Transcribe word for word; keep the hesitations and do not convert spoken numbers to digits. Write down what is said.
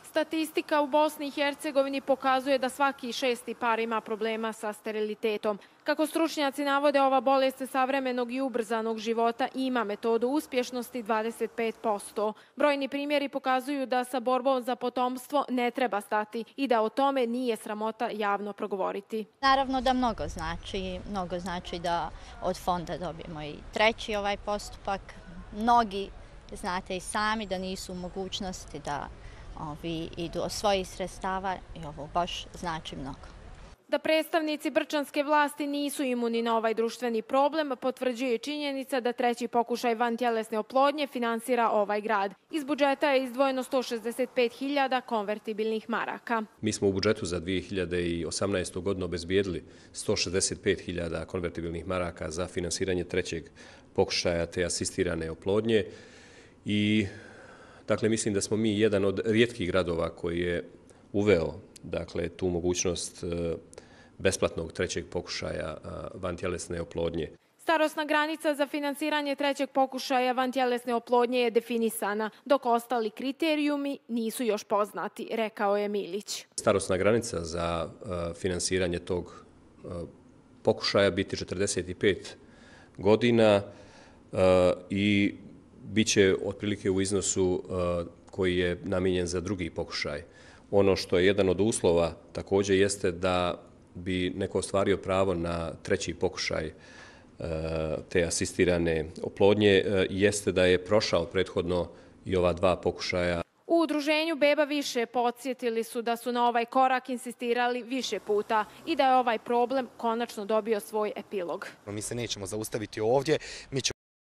Statistika u Bosni i Hercegovini pokazuje da svaki šesti par ima problema sa sterilitetom. Kako stručnjaci navode, ova bolest savremenog i ubrzanog života ima metodu uspješnosti dvadeset pet posto. Brojni primjeri pokazuju da sa borbom za potomstvo ne treba stati i da o tome nije sramota javno progovoriti. Naravno da mnogo znači, mnogo znači da od fonda dobijemo i treći ovaj postupak. Mnogi znate i sami da nisu u mogućnosti da ovi idu od svojih sredstava i ovo baš znači mnogo. Da predstavnici brčanske vlasti nisu imuni na ovaj društveni problem, potvrđuje činjenica da treći pokušaj vantjelesne oplodnje finansira ovaj grad. Iz budžeta je izdvojeno sto šezdeset pet hiljada konvertibilnih maraka. Mi smo u budžetu za dvije hiljade osamnaestu. godinu obezbijedili sto šezdeset pet hiljada konvertibilnih maraka za finansiranje trećeg pokušaja te asistirane oplodnje i dakle, mislim da smo mi jedan od rijetkih gradova koji je uveo dakle, tu mogućnost besplatnog trećeg pokušaja vantjelesne oplodnje. Starosna granica za finansiranje trećeg pokušaja vantjelesne oplodnje je definisana, dok ostali kriterijumi nisu još poznati, rekao je Milić. Starosna granica za finansiranje tog pokušaja biti četrdeset pet godina i bit će otprilike u iznosu koji je namijenjen za drugi pokušaj. Ono što je jedan od uslova također jeste da bi neko ostvario pravo na treći pokušaj te asistirane oplodnje, jeste da je prošao prethodno i ova dva pokušaja. U udruženju Beba više podsjetili su da su na ovaj korak insistirali više puta i da je ovaj problem konačno dobio svoj epilog. Mi se nećemo zaustaviti ovdje. Mi ćemo